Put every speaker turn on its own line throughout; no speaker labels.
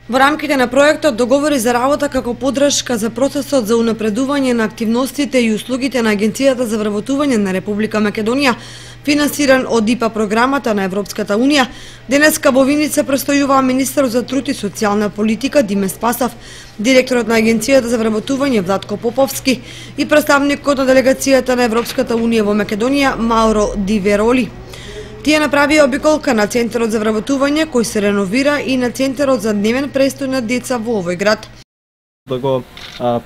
Во рамките на проектот договори за работа како поддршка за процесот за унапредување на активностите и услугите на Агенцијата за вработување на Република Македонија, финансиран од ИПА програмата на Европската Унија, денеска во Виница престојуваа министерот за труд и социјална политика Диме Спасов, директорот на Агенцијата за вработување Владко Поповски и представникот на делегацијата на Европската Унија во Македонија Мауро Ди Вероли. Тие направија обиколка на Центарот за вработување кој се реновира и на Центарот за дневен престој на деца во овој град.
Да го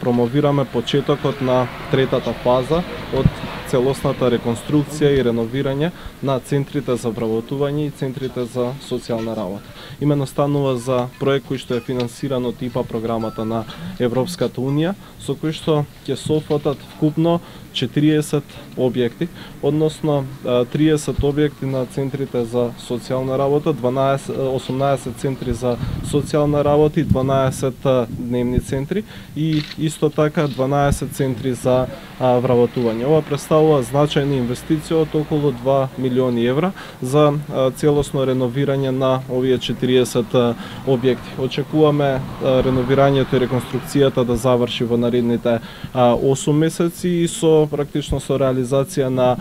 промовираме почетокот на третата фаза од целосната реконструкција и реновирање на центрите за вработување и центрите за социјална работа. Имено станува за проект кој што е финансиран од ИПА програмата на Европската Унија, со кој што ќе софатат вкупно 40 објекти, односно 30 објекти на центрите за социјална работа, 18 центри за социјална работа и 12 дневни центри и исто така 12 центри за вработување. Ова представува значајна инвестиција од околу 2 милиони евра за целосно реновирање на овие 40 објекти. Очекуваме реновирањето и реконструкцијата да заврши во наредните 8 месеци и практично со реализација на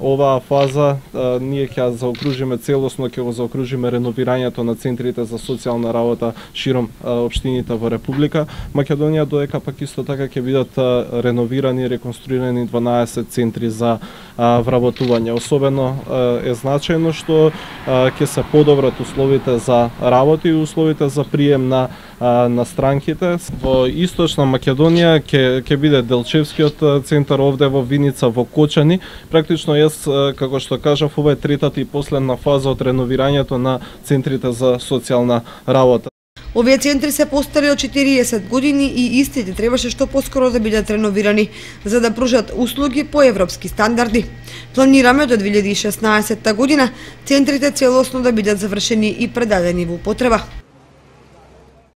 оваа фаза ние ќе заокружиме целосно, ќе го заокружиме реновирањето на центрите за социјална работа широм општините во Република Македонија, додека пак исто така ќе бидат реновирани и реконструирани 12 центри за вработување. Особено е значајно што ќе се подобрат условите за работа и условите за прием на странките. Во Источна Македонија ќе биде Делчевскиот центар, овде во Виница, во Кочани. Практично како што кажав, ова е третата и последна фаза од реновирањето на центрите за социјална работа.
Овие центри се постари од 40 години и истите требаше што поскоро да бидат реновирани, за да пружат услуги по европски стандарди. Планираме до 2016 година центрите целосно да бидат завршени и предадени во употреба.